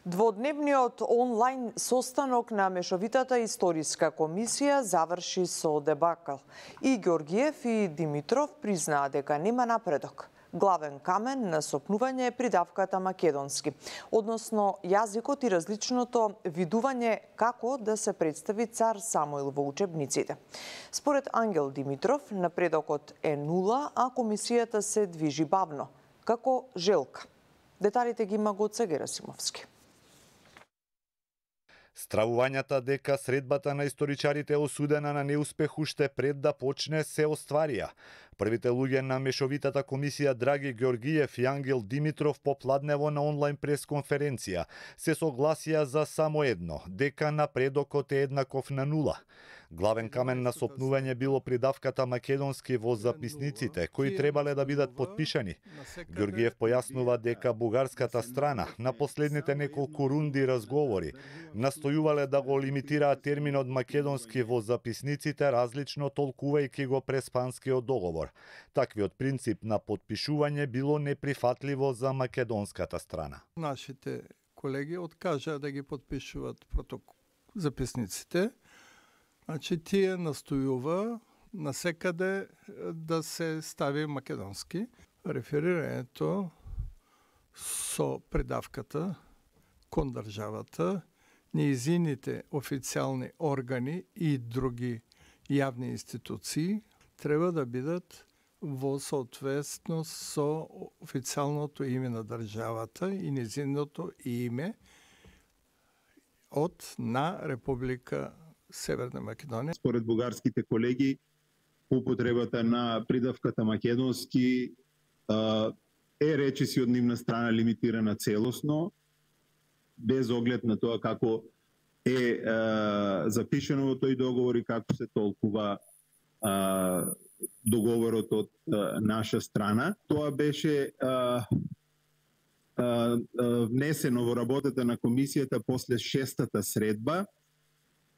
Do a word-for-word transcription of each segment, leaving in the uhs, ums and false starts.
Дводневниот онлайн состанок на Мешовитата историска комисија заврши со дебакл. И Георгиев и Димитров признаа дека нема напредок. Главен камен на сопнување е придавката македонски, односно јазикот и различното видување како да се представи цар Самуил во учебниците. Според Ангел Димитров, напредокот е нула, а комисијата се движи бавно, како желка. Деталите ги има Гоце Герасимовски. Стравувањата дека средбата на историчарите е осудена на неуспех уште пред да почне се остварија. Првите луѓе на Мешовитата комисија Драги Георгиев и Ангел Димитров попладнево на онлайн пресконференција се согласија за само едно, дека напредокот е еднаков на нула. Главен камен на сопнување било придавката македонски во записниците, кои требале да бидат подпишани. Георгиев појаснува дека бугарската страна на последните неколку рунди разговори настојувале да го лимитираат терминот македонски во записниците, различно толкувајќи го преспанскиот договор. Таквиот принцип на подпишување било неприфатливо за македонската страна. Нашите колеги откажаа да ги подпишуваат протокол записниците. Значи тие настојува насекаде да се стави македонски. Реферирањето со предавката кон државата, нејзините официјални органи и други јавни институции треба да бидат во соодветност со официјалното име на државата и нејзиното име од на Република Северна Македонија. Според бугарските колеги, употребата на придавката македонски е речиси од нивна страна лимитирана целосно, без оглед на тоа како е запишено во тој договор и како се толкува договорот од наша страна. Тоа беше внесено во работата на комисијата после шестата средба,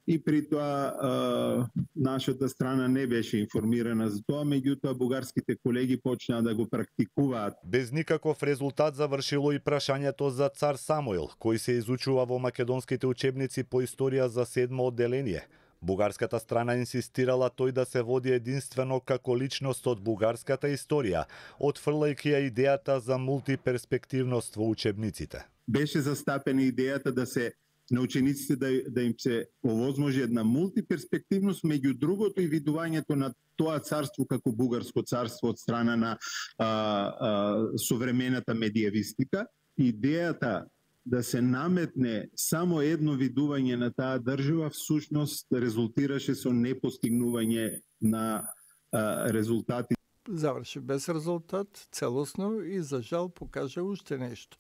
и при тоа нашата страна не беше информирана за тоа, меѓутоа бугарските колеги почнаа да го практикуваат. Без никаков резултат завршило и прашањето за цар Самуил, кој се изучува во македонските учебници по историја за седмо одделение. Бугарската страна инсистирала тој да се води единствено како личност од бугарската историја, отфрлајќи ја идејата за мултиперспективност во учебниците. Беше застапена идејата да се на учениците да, да им се овозможи една мултиперспективност, меѓу другото и видувањето на тоа царство како бугарско царство од страна на а, а, современата медиевистика. Идејата да се наметне само едно видување на таа држава всушност резултираше со непостигнување на а, резултати. Заврши без резултат, целосно и за жал покажа уште нешто.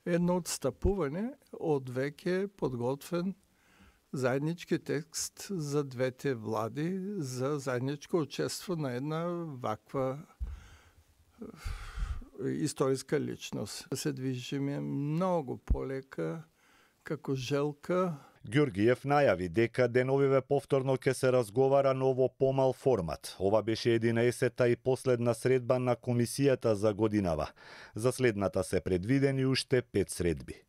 Едно отстапување од веќе подготвен заеднички текст за двете влади за заедничко учество на една ваква историска личност. Се движиме многу полека како желка. Георгиев најави дека деновиве повторно ќе се разговара, но во помал формат. Ова беше единаесетта и последна средба на комисијата за годинава. За следната се предвидени уште пет средби.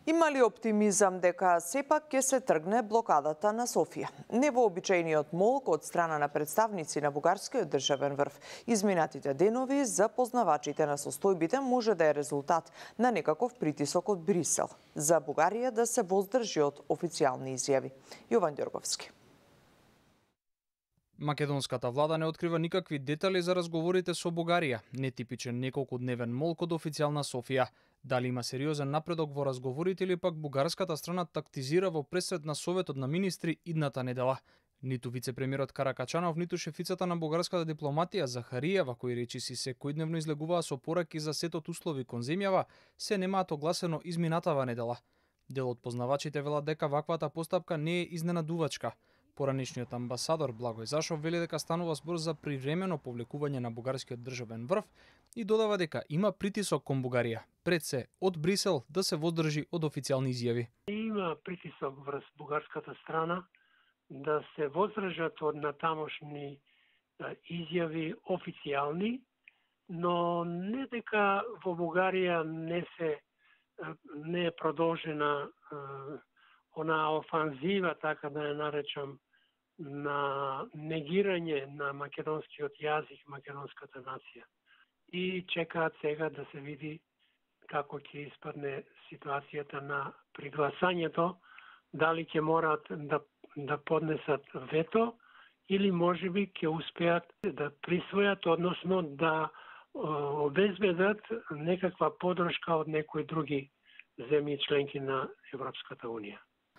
Има ли оптимизам дека сепак ќе се тргне блокадата на Софија? Невообичајниот молк од страна на представници на бугарскиот државен врв изминатите денови за познавачите на состојбите може да е резултат на некаков притисок од Брисел за Бугарија да се воздржи од официјални изјави. Јован Ѓорговски. Македонската влада не открива никакви детали за разговорите со Бугарија, нетипичен неколкудневен молк од официјална Софија. Дали има сериозен напредок во разговорите или пак бугарската страна тактизира во пресред на Советот на министри идната недела. Ниту вице-премиерот Каракачанов, ниту шефицата на бугарската дипломатија Захариева, кои речиси секојдневно излегуваа со пораки за сет од услови кон земјава, се немаат огласено изминатава недела. Дел од познавачите велат дека ваквата постапка не е изненадувачка. Поранешниот амбасадор Благој Зашов вели дека станува збор за привремено повлекување на бугарскиот државен врв и додава дека има притисок кон Бугарија, пред се од Брисел да се воздржи од официјални изјави. Има притисок врз бугарската страна да се воздржат од натамошни изјави официјални, но не дека во Бугарија не се не е продолжена она офанзива, така да ја наречам, на негирање на македонскиот јазик, македонската нација. И чекаат сега да се види како ќе испадне ситуацијата на пригласањето, дали ќе мораат да, да поднесат вето или можеби ќе успеат да присвојат, односно да обезбедат некаква подршка од некои други земји членки на Европската Унија.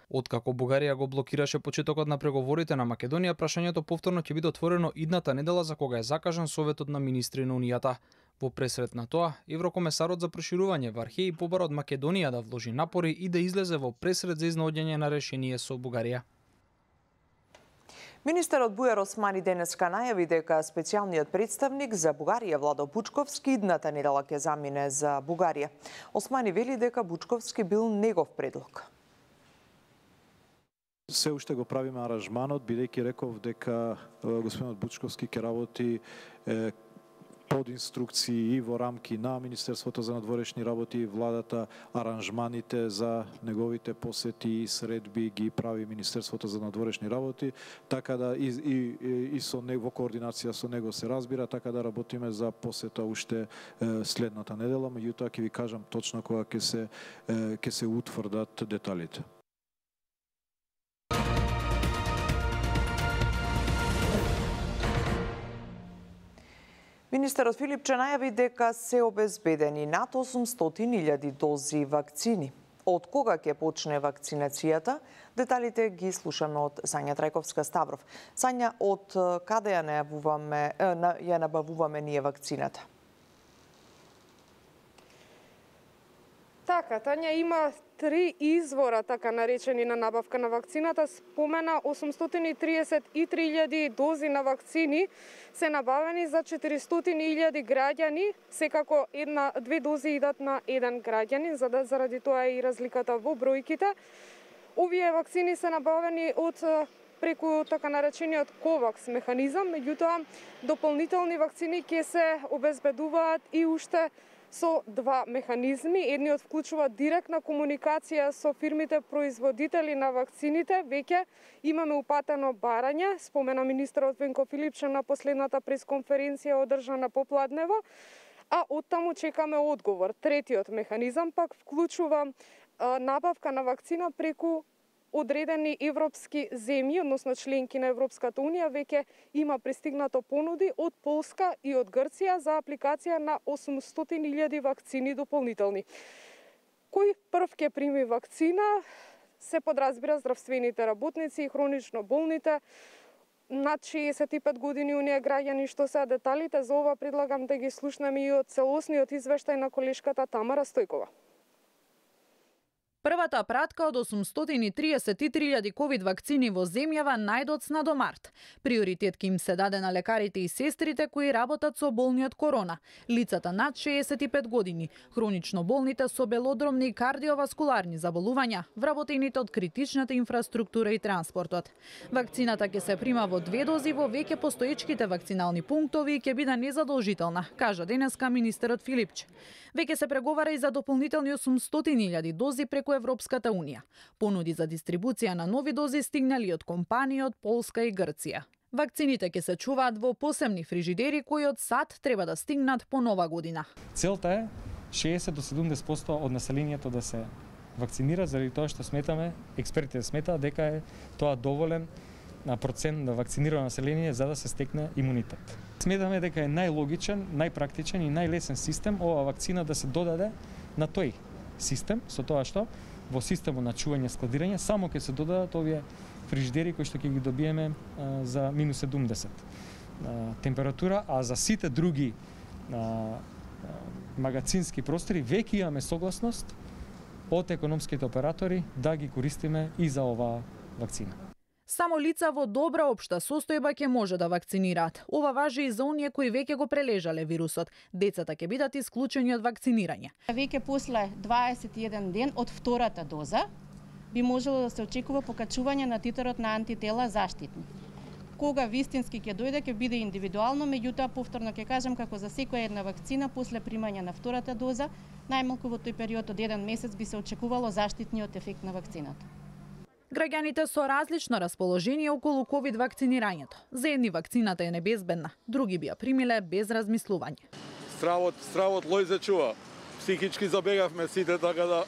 Откако Бугарија го блокираше почетокот на преговорите на Македонија, прашањето повторно ќе биде отворено идната недела за кога е закажан Советот на министри на Унијата. Во пресред на тоа, Еврокомесарот за проширување Вархеј побара од Македонија да вложи напори и да излезе во пресред за изнаоѓање на решение со Бугарија. Министерот Бујар Османи денеска најави дека специјалниот представник за Бугарија Владо Бучковски идната недела ќе замине за Бугарија. Османи вели дека Бучковски бил негов предлог. Се уште го правиме аранжманот, бидејќи реков дека господинот Бучковски ќе работи е, под инструкции и во рамки на Министерството за надворешни работи и владата. Аранжманите за неговите посети и средби ги прави Министерството за надворешни работи, така да и, и, и со него, во координација со него се разбира, така да работиме за посета уште е, следната недела, меѓутоа ќе ви кажам точно кога ќе се е, ќе се утврдат деталите. Министерот Филипче најави дека се обезбедени над осумстотини илјади дози вакцини. Од кога ќе почне вакцинацијата? Деталите ги слушаме од Сања Трајковска-Ставров. Сања, од каде ја најавуваме, ја набавуваме ние вакцината? Така, Тања, има три извора, така наречени, на набавка на вакцината. Спомена осумстотини триесет и три илјади дози на вакцини се набавени за четиристотини илјади граѓани. Секако една, две дози идат на еден граѓанин, за да заради тоа е и разликата во бројките. Овие вакцини се набавени од преку така наречениот ковакс механизам, меѓутоа дополнителни вакцини ќе се обезбедуваат и уште со два механизми. Едниот вклучува директна комуникација со фирмите производители на вакцините. Веќе имаме упатено барање, спомена министерот Венко Филипче на последната пресконференција одржана попладнево, а оттаму чекаме одговор. Третиот механизам пак вклучува а, набавка на вакцина преку одредени европски земји, односно членки на Европската Унија. Веќе има пристигнато понуди од Полска и од Грција за апликација на осумстотини илјади вакцини дополнителни. Кој прв ќе прими вакцина? Се подразбира здравствените работници и хронично болните над шеесет и пет години оние граѓани. Што се деталите за ова предлагам да ги слушнеме и од целосниот извештај на колешката Тамара Стојкова. Првата пратка од осумстотини триесет и три илјади ковид вакцини во земјава најдоцна до март. Приоритет ќе им се даде на лекарите и сестрите кои работат со болни од корона, лицата над шеесет и пет години, хронично болните со белодромни и кардиоваскуларни заболувања, вработените од критичната инфраструктура и транспортот. Вакцината ќе се прима во две дози во веќе постоечките вакцинални пунктови и ќе биде незадолжителна, кажа денеска министерот Филипче. Веќе се преговара и за дополнителни осумстотини илјади дози преку Европската Унија. Понуди за дистрибуција на нови дози стигнали од компании од Полска и Грција. Вакцините ќе се чуваат во посебни фрижидери кои од САД треба да стигнат по нова година. Целта е шеесет до седумдесет проценти од населението да се вакцинира, заради тоа што сметаме, експертите сметаат дека е тоа доволен на процент на вакцинирано население за да се стекне имунитет. Сметаме дека е најлогичен, најпрактичен и најлесен систем ова вакцина да се додаде на тој систем, со тоа што во системот на чување складирање само ќе се додадат овие фрижидери кои што ќе ги добиеме а, за минус седумдесет а, температура, а за сите други а, а, магазински простори веќе имаме согласност од економските оператори да ги користиме и за оваа вакцина. Само лица во добра општа состојба ќе може да вакцинираат. Ова важи и за оние кои веќе го прележале вирусот. Децата ќе бидат исклучени од вакцинирање. Веќе после дваесет и еден ден од втората доза би можело да се очекува покачување на титрот на антитела заштитни. Кога вистински ќе дојде, ќе биде индивидуално, меѓутоа повторно ќе кажам како за секоја една вакцина после примање на втората доза, најмалку во тој период од еден месец би се очекувало заштитниот ефект на вакцината. Граѓаните со различно расположение околу ковид вакцинирањето. За едни вакцината е небезбедна, други би ја примиле без размислување. Стравот, стравот Лојзе чува. Психички забегавме сите, така да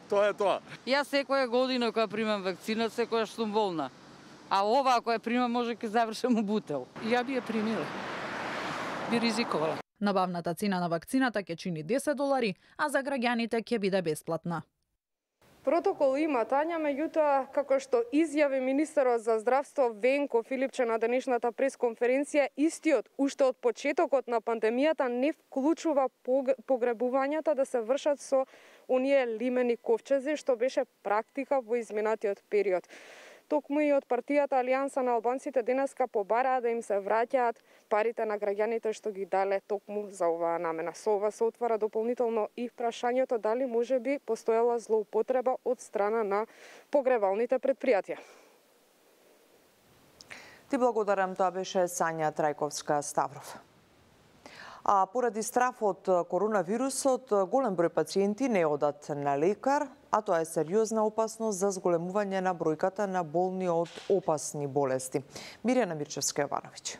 тоа е тоа. Јас секоја година кога примам вакцина, секојаш сум болна. А ова ако ја примам може ќе завршам у бутел. Ја би ја примила. Би ризиковала. Набавната цена на вакцината ќе чини десет долари, а за граѓаните ќе биде бесплатна. Протокол има, Тања, меѓутоа, како што изјави министерот за здравство Венко Филипче на денешната пресконференција, истиот уште од почетокот на пандемијата не вклучува погребувањата да се вршат со оние лимени ковчези, што беше практика во изминатиот период. Токму и од партијата Алијанса на албанците денеска побараа да им се враќаат парите на граѓаните што ги дале токму за оваа намена. Со ова се отвара дополнително и прашањето дали може би постоела злоупотреба од страна на погребалните предпријатија. Ти благодарам, тоа беше Сања Трајковска-Ставров. А поради страф од коронавирусот, голем број пациенти не одат на лекар, а тоа е сериозна опасност за зголемување на бројката на болни од опасни болести. Мирјана Мирчевска-Јовановиќ.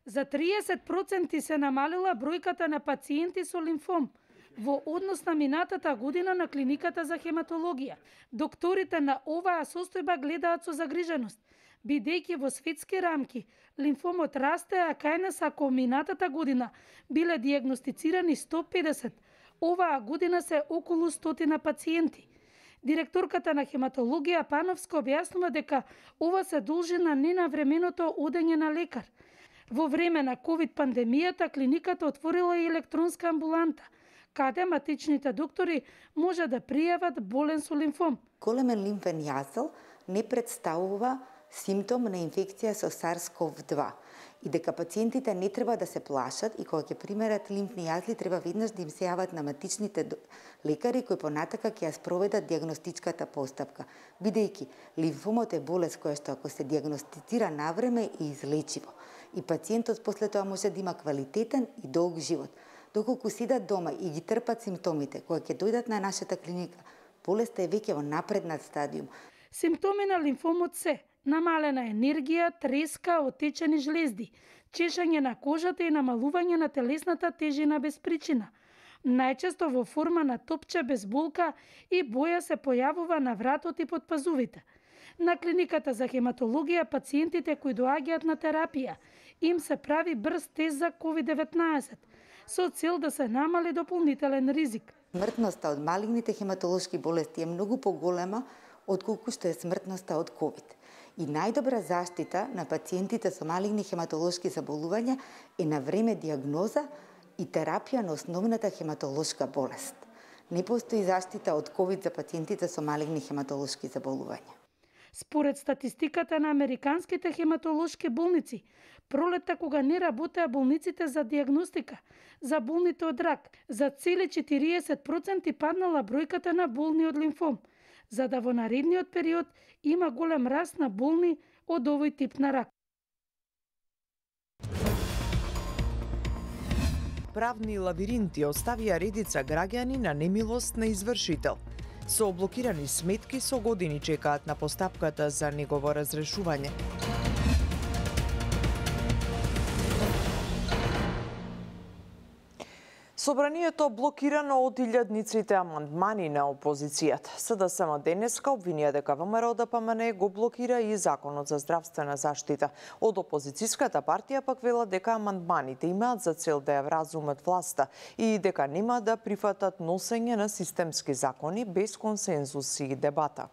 За триесет проценти се намалила бројката на пациенти со лимфом во однос на минатата година на клиниката за хематологија. Докторите на оваа состојба гледаат со загриженост, бидејќи во светски рамки лимфомот расте, а кај нас ако минатата година биле дијагностицирани сто педесет, оваа година се околу стотина пациенти. Директорката на хематологија Пановска објаснува дека ова се должи на ненавременото одење на лекар. Во време на ковид пандемијата клиниката отворила и електронска амбуланта, каде матичните доктори може да пријават болен со лимфом. Големен лимфен јазел не представува симптом на инфекција со SARS-CoV два и дека пациентите не треба да се плашат и кога ќе примерат лимфни јазли треба веднаш да им се јават на матичните лекари кои понатака ќе ја спроведат дијагностичката постапка, бидејќи лимфомот е болест која што ако се дијагностицира навреме е излечиво и пациентот после тоа може да има квалитетен и долг живот. Доколку сидат дома и ги трпат симптомите, кога ќе дојдат на нашата клиника, болеста е веќе во напреднат стадиум. Симптоми на лимфомот се намалена енергија, треска, отечени жлезди, чешање на кожата и намалување на телесната тежина без причина. Најчесто во форма на топче без болка и боја се појавува на вратот и под пазувите. На клиниката за хематологија пациентите кои доаѓаат на терапија им се прави брз тест за ковид деветнаесет со цел да се намали дополнителен ризик. Смртноста од малигните хематолошки болести е многу поголема отколку што е смртноста од ковид. И најдобра заштита на пациентите со малигни хематолошки заболувања е на време диагноза и терапија на основната хематолошка болест. Не постои заштита од ковид за пациентите со малигни хематолошки заболувања. Според статистиката на американските хематолошки болници, пролетта кога не работеа болниците за диагностика, за болните од рак, за цели четириесет проценти паднала бројката на болни од лимфом, за да во наредниот период има голем раст на болни од овој тип на рак. Правни лавиринти оставија редица граѓани на немилост на извршител. Со блокирани сметки со години чекаат на постапката за негово разрешување. Собранието блокирано од илјадниците амандмани на опозицијата. СДСМ денеска обвинија дека ВМРО Д П М Н го блокира и Законот за здравствена заштита. Од опозицијската партија пак велат дека амандманите имаат за цел да ја вразумат власта и дека нема да прифатат носење на системски закони без консензус и дебата.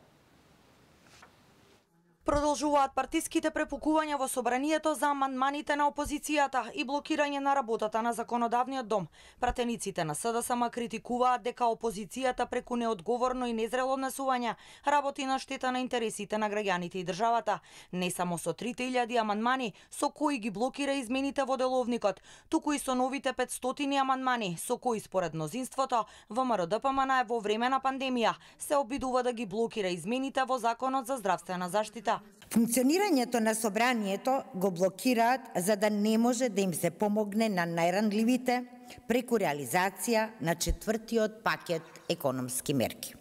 Продолжуваат партиските препукувања во собранието за амандманите на опозицијата и блокирање на работата на законодавниот дом. Пратениците на СДСМ критикуваат дека опозицијата преку неодговорно и незрело однесување работи на штета на интересите на граѓаните и државата. Не само со трите илјади амандмани со кои ги блокира измените во деловникот, туку и со новите петстотини амандмани со кои според мнозинството ВМРО Д П М Н во време на пандемија се обидува да ги блокира измените во Законот за здравствена заштита. опозицијата. Функционирањето на собранието го блокираат за да не може да им се помогне на најранливите преку реализација на четвртиот пакет економски мерки.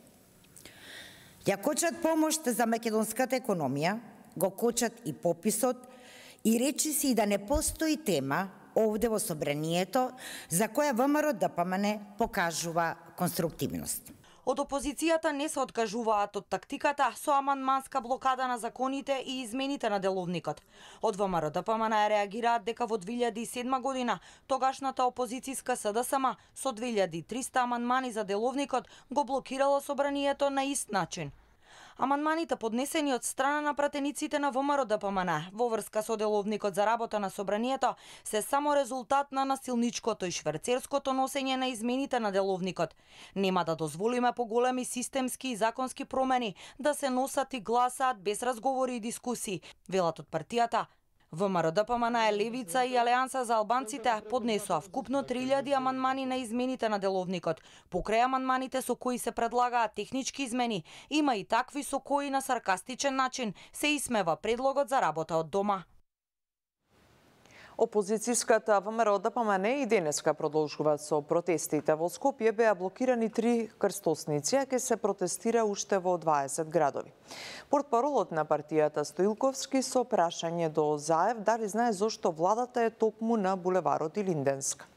Ја кочат помош за македонската економија, го кочат и пописот и речи си да не постои тема овде во собранието за која ВМРО-ДПМН покажува конструктивност. Од опозицијата не се откажуваат од тактиката со амандманска блокада на законите и измените на деловникот. Од ВМРО-ДПМН реагираат дека во две илјади и седма година тогашната опозицијска СДСМ со две илјади и триста амандмани за деловникот го блокирало собранието на ист начин. Амандманите поднесени од страна на пратениците на ВМРО-ДПМН во врска со деловникот за работа на собранието се само резултат на насилничкото и шверцерското носење на измените на деловникот. Нема да дозволиме поголеми системски и законски промени да се носат и гласаат без разговори и дискусии, велат од партијата. ВМРО-ДПМН, Левица и Алијанса за албанците поднесоа вкупно три илјади амандмани на измените на деловникот. Покрај амандманите со кои се предлагаат технички измени, има и такви со кои на саркастичен начин се исмева предлогот за работа од дома. Опозицијската ВМРО-ДПМН и денеска продолжуваат со протестите. Во Скопје беа блокирани три крстосници, а ќе се протестира уште во дваесет градови. Портпаролот на партијата Стоилковски со прашање до Заев дали знае зошто владата е токму на булеварот Илинденска.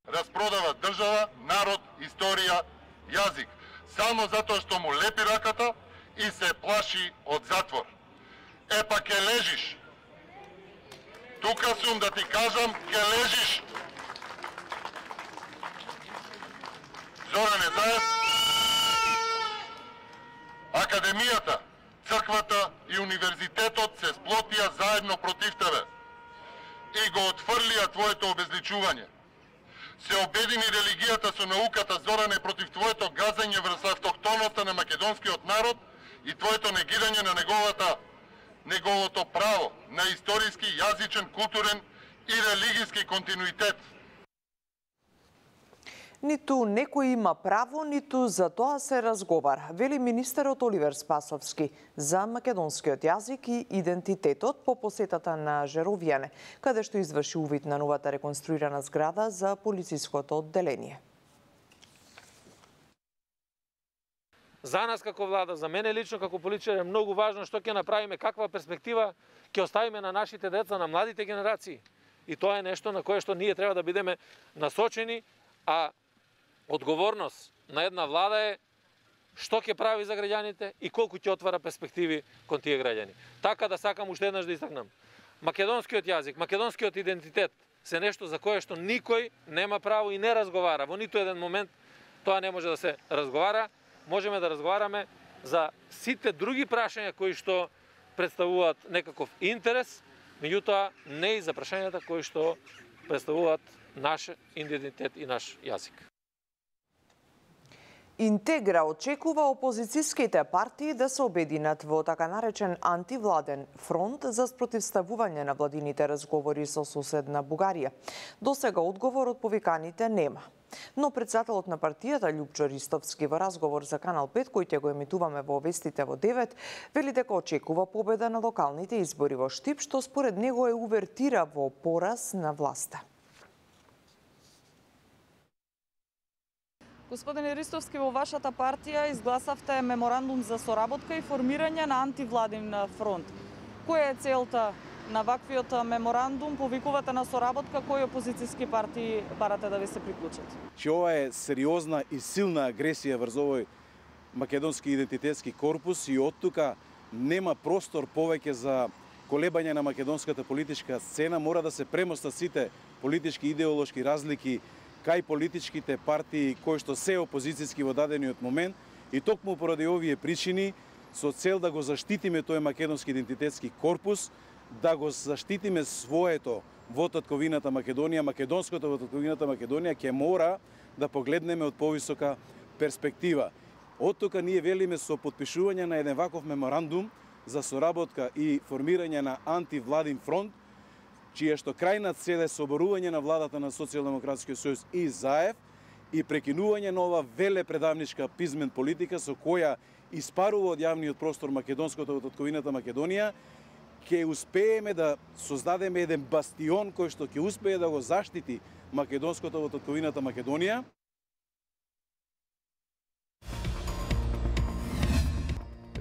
Распродава држава, народ, историја, јазик, само затоа што му лепи раката и се плаши од затвор. Е па ке лежиш. Тука сум да ти кажам, ке лежиш. Зоране Заев, Академијата, црквата и универзитетот се сплотија заедно против тебе и го отфрлија твоето обезличување. Се обедини религијата со науката, Зоране, против твоето газање врз автохтоноста на македонскиот народ и твоето негирање на неговата неговото право на историски, јазичен, културен и религиски континуитет. Ниту некој има право, ниту за тоа се разговара, вели министерот Оливер Спасовски за македонскиот јазик и идентитетот по посетата на Жеровјане, каде што изврши увид на новата реконструирана зграда за полициското одделение. За нас како влада, за мене лично како политичар е многу важно што ќе направиме, каква перспектива ќе оставиме на нашите деца, на младите генерации. И тоа е нешто на кое што ние треба да бидеме насочени, а одговорност на една влада е што ќе прави за граѓаните и колку ќе отвара перспективи кон тие граѓани. Така да сакам уште еднаш да истакнам. Македонскиот јазик, македонскиот идентитет се нешто за кое што никој нема право и не разговара. Во ниту еден момент тоа не може да се разговара. Можеме да разговараме за сите други прашања кои што представуваат некаков интерес, меѓутоа не и за прашањата кои што представуваат наш идентитет и наш јазик. Интегра очекува опозицијските партии да се обединат во така наречен антивладен фронт за спротивставување на владините разговори со соседна Бугарија. Досега одговор од повиканите нема. Но председателот на партијата Љупчо Ристовски во разговор за Канал пет, кој ќе го емитуваме во вестите во девет, вели дека очекува победа на локалните избори во Штип, што според него е увертира во пораз на власта. Господине Ристовски, во вашата партија изгласавте меморандум за соработка и формирање на антивладин фронт. Која е целта на ваквиот меморандум? Повикувате на соработка, кои опозицијски партии барате да ви се приклучат? Че ова е сериозна и силна агресија врз овој македонски идентитетски корпус и од тука нема простор повеќе за колебање на македонската политичка сцена. Мора да се премостат сите политички идеолошки разлики кај политичките партии кои што се опозицијски во дадениот момент и токму поради овие причини со цел да го заштитиме тој македонски идентитетски корпус, да го заштитиме своето во татковината Македонија, македонското во татковината Македонија, ќе мора да погледнеме од повисока перспектива. Од тука ние велиме со потпишување на еден ваков меморандум за соработка и формирање на антивладин фронт, чија што крајна цел е соборување на владата на Социјалдемократскиот сојуз и Заев и прекинување на ова велепредавничка пизмен политика со која испарува од јавниот простор македонското од татковината Македонија, ќе успееме да создадеме еден бастион кој што ќе успее да го заштити македонското од татковината Македонија.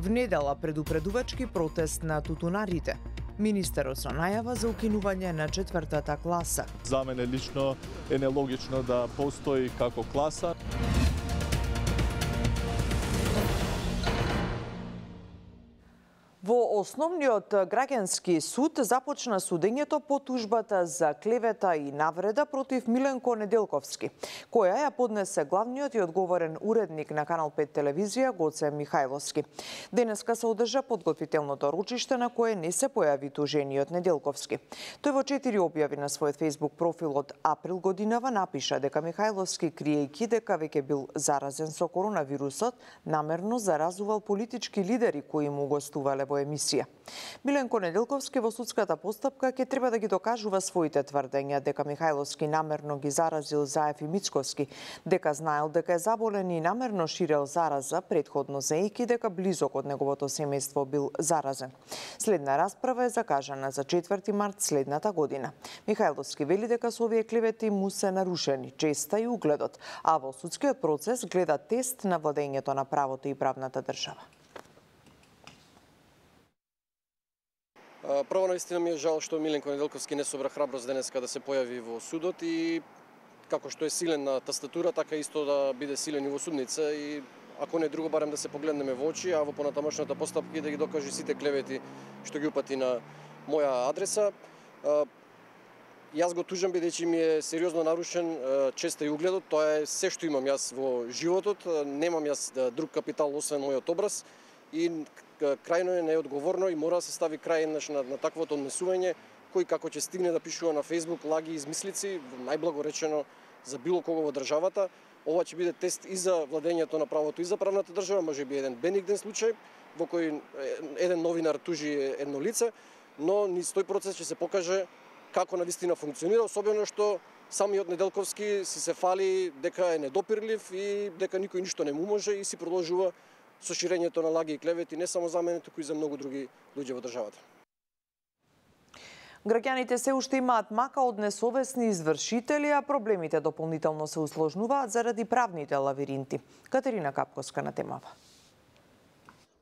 В недела предупредувачки протест на тутунарите. Министерот со најава за укинување на четвртата класа. За мене лично е нелогично да постои како класа. Во Основниот граѓански суд започна судењето по тужбата за клевета и навреда против Миленко Неделковски, која ја поднесе главниот и одговорен уредник на Канал пет телевизија Гоце Михајловски. Денеска се одржа подготвителното ручиште на кое не се појави тужениот Неделковски. Тој во четири објави на својот Facebook профил од април годинава напиша дека Михајловски, криејќи дека веќе бил заразен со коронавирусот, намерно заразувал политички лидери кои му гостувале во емисија. Миленко Неделковски во судската постапка ќе треба да ги докажува своите тврдења дека Михајловски намерно ги заразил Заев и Мицковски, дека знаел дека е заболен и намерно ширел зараза, предходно заејќи дека близок од неговото семејство бил заразен. Следна расправа е закажана за четврти март следната година. Михајловски вели дека со овие клевети му се нарушени честа и угледот, а во судскиот процес гледа тест на владењето на правото и правната држава. Прво наистина ми е жал што Миленко Неделковски не собра храброст денеска да се појави во судот и како што е силен на тастатура, така исто да биде силен и во судница и ако не друго барем да се погледнеме во очи, а во понатамошната постапка и да ги докаже сите клевети што ги упати на моја адреса. Јас го тужам бидејќи ми е сериозно нарушен честа и угледот, тоа е се што имам јас во животот, немам јас друг капитал освен мојот образ и крајно е неодговорно и мора да се стави крај на, на таквото однесување, кој како ќе стигне да пишува на Facebook лаги и измислици, најблаго речено за било кого во државата. Ова ќе биде тест и за владењето на правото и за правната држава, може би еден бенигден случај во кој еден новинар тужи едно лице, но низ тој процес ќе се покаже како навистина функционира, особено што самиот Неделковски си се фали дека е недопирлив и дека никој ништо не му може и си продолжува со ширењето на лаги и клевети не само за мене, туку и за многу други луѓе во државата. Граѓаните се уште имаат мака од несовесни извршители, а проблемите дополнително се усложнуваат заради правните лавиринти. Катерина Капковска на темава.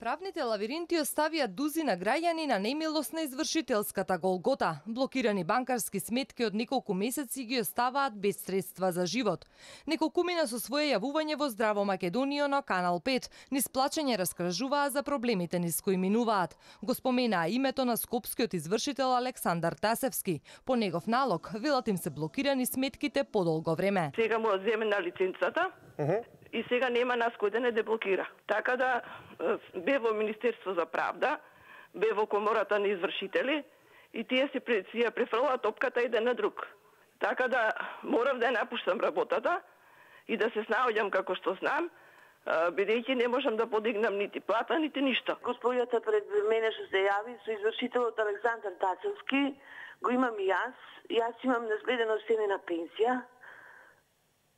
Правните лавиринти оставија дузина граѓани на немилост на извршителската голгота. Блокирани банкарски сметки од неколку месеци ги оставаат без средства за живот. Неколкумина со свое јавување во Здраво Македонија на Канал пет низ плачење раскажуваа за проблемите низ кои минуваат. Го споменаа името на скопскиот извршител Александар Тасевски. По негов налог, велат им се блокирани сметките подолго време. Сега му одземена лиценцата. Uh -huh. И сега нема нас кој да не деблокира. Така да бе во Министерство за правда, бе во комората на извршители и тие се си ја префрлаа топката еден на друг. Така да морав да ја напуштам работата и да се снаоѓам како што знам, бидејќи не можам да подигнам нити плата, нити ништо. Господјата пред мене што се јави со извршителот Александар Тасевски, го имам и јас. Јас имам наследено семе на пенсија.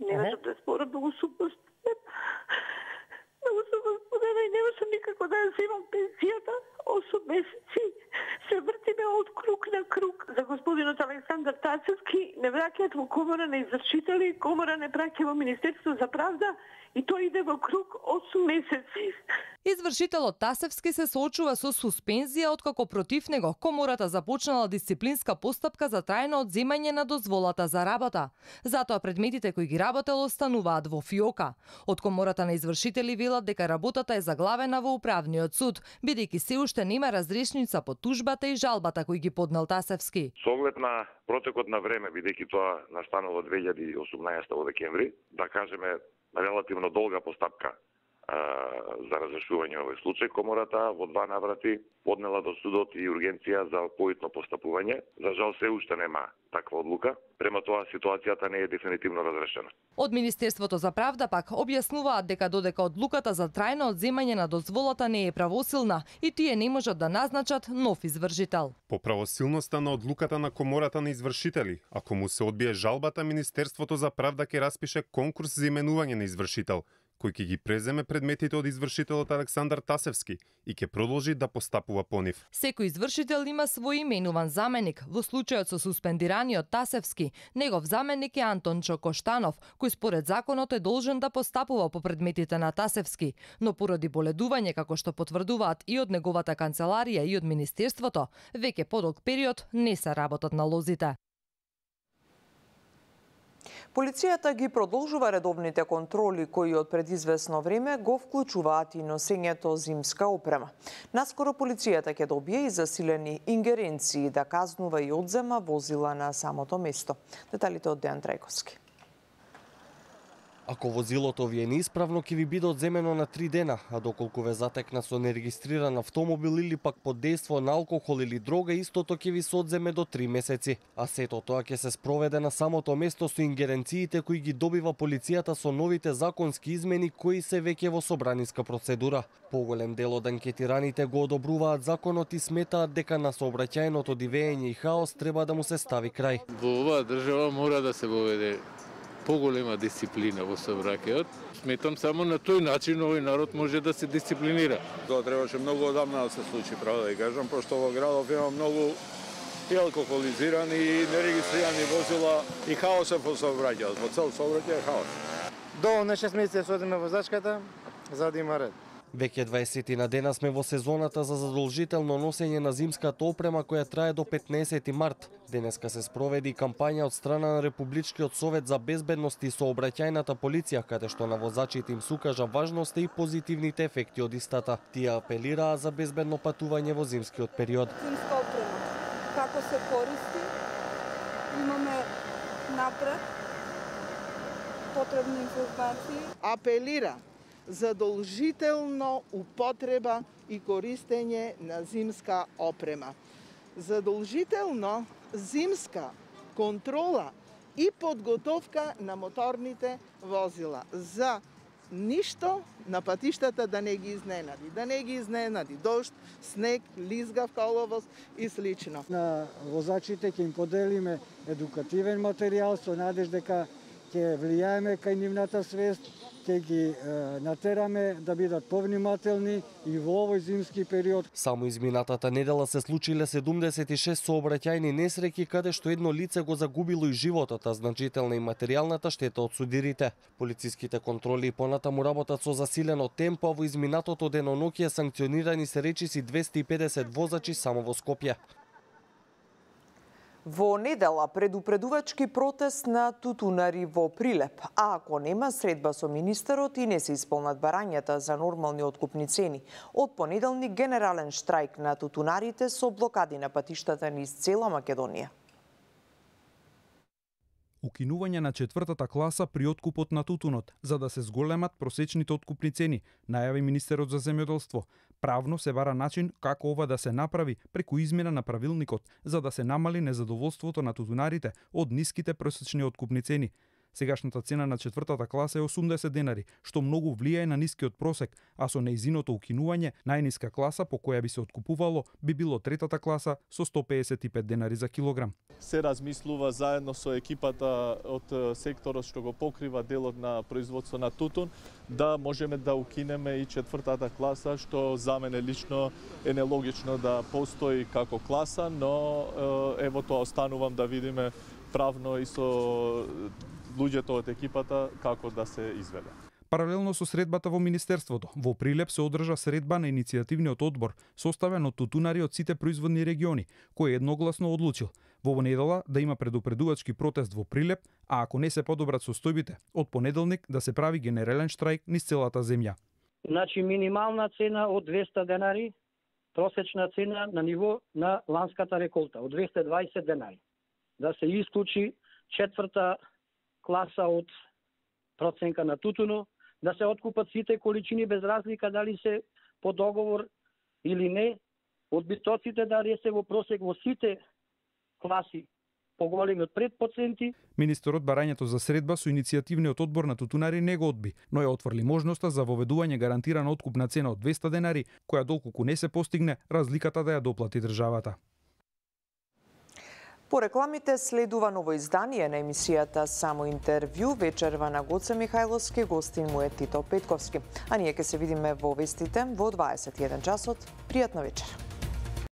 Не можам да спорам, многу сум Многу сум господена и не можам никако да ја земам пенсијата. осум месеци се вртиме од круг на круг. За господинот Александар Тасевски не враќаат во комора на извршители, комора не праќа во Министерство за правда и тој иде во круг осум месеци. Извршителот Тасевски се соочува со суспензија откако против него комората започнала дисциплинска постапка за трајно одземање на дозволата за работа. Затоа предметите кои ги работел остануваат во фиока. Од комората на извршители велат дека работата е заглавена во управниот суд, бидејќи се уште нема разрешница по тужбата и жалбата кој ги поднел Тасевски. Со оглед на протекот на време, бидејќи тоа настанало две илјади и осумнаесета во декември, да кажеме релативно долга постапка за разрешување овој случај, комората во два наврати поднела до судот и ургенција за поитно постапување. За жал се уште нема таква одлука. Према тоа ситуацијата не е дефинитивно разрешена. Од Министерството за правда пак објаснуваат дека додека одлуката за трајно одземање на дозволата не е правосилна и тие не можат да назначат нов извршител. По правосилноста на одлуката на комората на извршители, ако му се одбие жалбата, Министерството за правда ќе распише конкурс за именување на извршител, кој ќе ги преземе предметите од извршителот Александар Тасевски и ќе продолжи да постапува по нив. Секој извршител има свој именуван заменик. Во случајот со суспендираниот Тасевски, негов заменик е Антончо Коштанов, кој според законот е должен да постапува по предметите на Тасевски, но поради боледување, како што потврдуваат и од неговата канцеларија и од Министерството, веќе подолг период не се работат на лозите. Полицијата ги продолжува редовните контроли кои од предизвестно време го вклучуваат и носењето зимска опрема. Наскоро полицијата ќе добие и засилени ингеренции да казнува и одзема возила на самото место. Деталите од Дејан Трајковски. Ако возилото ви е неисправно, ќе ви биде одземено на три дена, а доколку ве затекна со нерегистриран автомобил или пак под дејство на алкохол или дрога, истото ќе ви се одземе до три месеци. А сето тоа ќе се спроведе на самото место со ингеренциите кои ги добива полицијата со новите законски измени кои се веќе во собраниска процедура. Поголем дел од анкетираните го одобруваат законот и сметаат дека на сообраќајното дивење и хаос треба да му се стави крај. Во оваа држава мора да се воведе поголема дисциплина во сообраќајот. Сметам само на тој начин овој народ може да се дисциплинира. Тоа требаше многу одамна да се случи, право да ја кажам, пошто во градов има многу и алкохолизирани и нерегистрирани возила и хаосот во сообраќајот. Во цел сообраќај е хаос. Доволно шест месеци се одиме возачката за да има ред. Веќе дваесет на дена сме во сезоната за задолжително носење на зимската опрема која трае до петнаесети март. Денеска се спроведи и кампања од страна на Републичкиот совет за безбедност и сообраќајната полиција, каде што на возачите им сукажа важноста и позитивните ефекти од истата. Тие апелираа за безбедно патување во зимскиот период. Зимска опрема, како се користи, имаме напред потребни информации. Апелира задолжително употреба и користење на зимска опрема. Задолжително зимска контрола и подготовка на моторните возила. За ништо на патиштата да не ги изненади. Да не ги изненади дожд, снег, лизгав коловоз и слично. На возачите ќе им поделиме едукативен материјал со надеж дека ќе влијаеме кај нивната свест, ќе ги е, натераме да бидат повнимателни и во овој зимски период. Само изминатата недела се случиле седумдесет и шест сообраќајни несреќи каде што едно лице го загубило и животот, а значителна и материјалната штета од судирите. Полициските контроли и понатаму работат со засилено темпо, а во изминатото деноноќие санкционирани се речиси двесте и педесет возачи само во Скопје. Во недела предупредувачки протест на тутунари во Прилеп, а ако нема средба со министерот и не се исполнат барањата за нормални откупни цени, од понеделник генерален штрајк на тутунарите со блокади на патиштата низ цела Македонија. Укинување на четвртата класа при откупот на тутунот, за да се зголемат просечните откупни цени, најави министерот за земјоделство. Правно се бара начин како ова да се направи преку измена на правилникот, за да се намали незадоволството на тутунарите од ниските просечни откупни цени. Сегашната цена на четвртата класа е осумдесет денари, што многу влијае на нискиот просек, а со неизиното укинување, најниска класа по која би се откупувало би било третата класа со сто педесет и пет денари за килограм. Се размислува заедно со екипата од секторот што го покрива делот на производство на тутун, да можеме да укинеме и четвртата класа, што за мене лично е нелогично да постои како класа, но ево тоа останувам да видиме правно и со луѓето од екипата како да се изведе. Паралелно со средбата во Министерството, во Прилеп се одржа средба на иницијативниот одбор, составен од тутунари од сите производни региони, кој едногласно одлучил во недела да има предупредувачки протест во Прилеп, а ако не се подобрат состојбите, од понеделник да се прави генерален штрајк низ целата земја. Значи минимална цена од двесте денари, просечна цена на ниво на ланската реколта од двесте и дваесет денари. Да се исклучи четврта класа од проценка на тутуно, да се откупат сите количини без разлика дали се по договор или не, одбитоците да се во просек во сите класи поголеми од пет проценти. Министерот барањето за средба со иницијативниот одбор на тутунари не го одби, но ја отврли можноста за воведување гарантирана откупна цена од двесте денари, која доколку не се постигне, разликата да ја доплати државата. По рекламите следува ново издание на емисијата Само интервју. Вечерва на Гоце Михајловски, гостин му е Тито Петковски. А ние ќе се видиме во вестите во дваесет и еден часот. Пријатна вечер.